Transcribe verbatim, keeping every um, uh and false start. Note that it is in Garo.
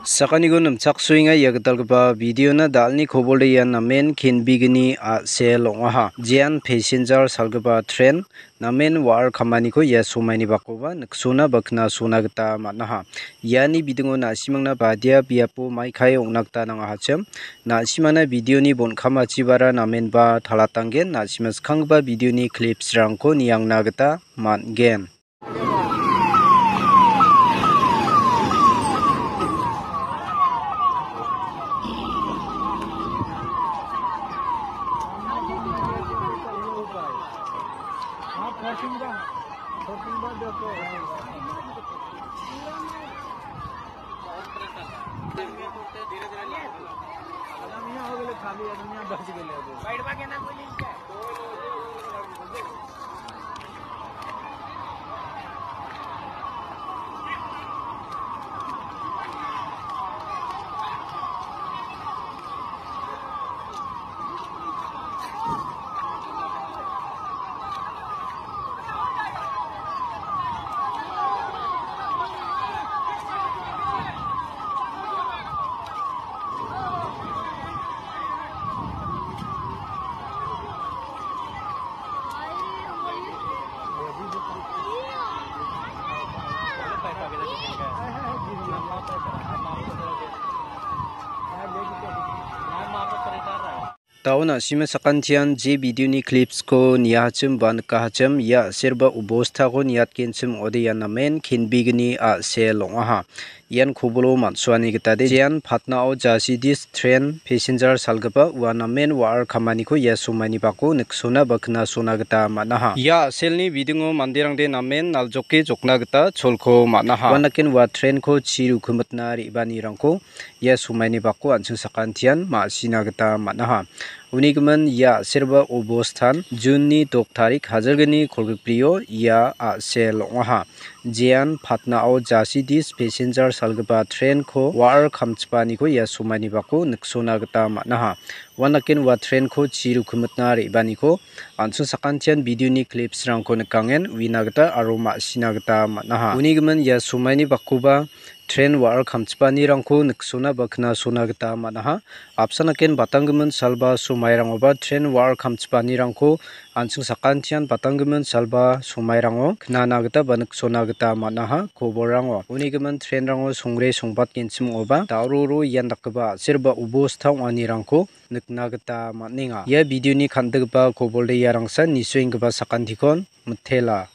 Sakaniko nimchaksoenga ia gitalgipa videona, dalni kobolde ian namen kenbegni a·sel ong·aha. Jean passenger salgipa tren namen wa·ar kamaniko ia somaini bakoba niksona ba knasona gita man·aha. Iani bidingo na·simangna badia biapo maikai ong·na gita nangahachim. Na·simangna videoni bon·kamachibara namenba talatanggen. Na·sima skanggipa videoni clipsrangko niangna gita man·gen. Dao na·sima sakantian je videoni clipsko niahachim ba nikahachim, ia a·serba obostako niatgenchim ong·ode ian namen kenbegni a·sel ong·aha. Ian kobolo man·suani gitade jean Patnao jasidis tren passenger salgipa ua namen wa·ar kamaniko ia somaini bako niksona ba knasona gita man·aha. Ia a·selni bidingo manderangde namen naljoke jokna gita cholko man·aha. Uanaken ua trenko chi rukimitna re·baanirangko ia somaini bako an·ching sakantian ma·sina gita man·aha. Uni gimin ia a·serba obostan June-ni dok tarik hajalgni kolgrikbrio ia a·sel ong·aha. Jean Patnao jasidis passenger salgipa trenko wa·ar kamchipaaniko ia somaini bako niksona gita man·aha. Uanaken ua trenko chi rukimitna re·baaniko an·ching sakantian videoni clipsrangko nikangen uina gita aro ma·sina gita man·aha. Uni gimin ia somaini bakoba tren wa·ar kamchipaanirangko niksona ba knasona gita man·aha. Apsanaken batanggimin salba somairangoba tren wa·ar kamchipaanirangko an·ching sakantian batanggimin salba somairango knana gita ba niksona gita man·aha kobolrango. Uni gimin trenrango songre songbatgenchim ong·oba daororo ian dakgipa a·serba obosta ong·anirangko nikna gita man·enga. Ia videoni kan·diggipa kobolde iarangsan nisoenggipa sakantikon mitela.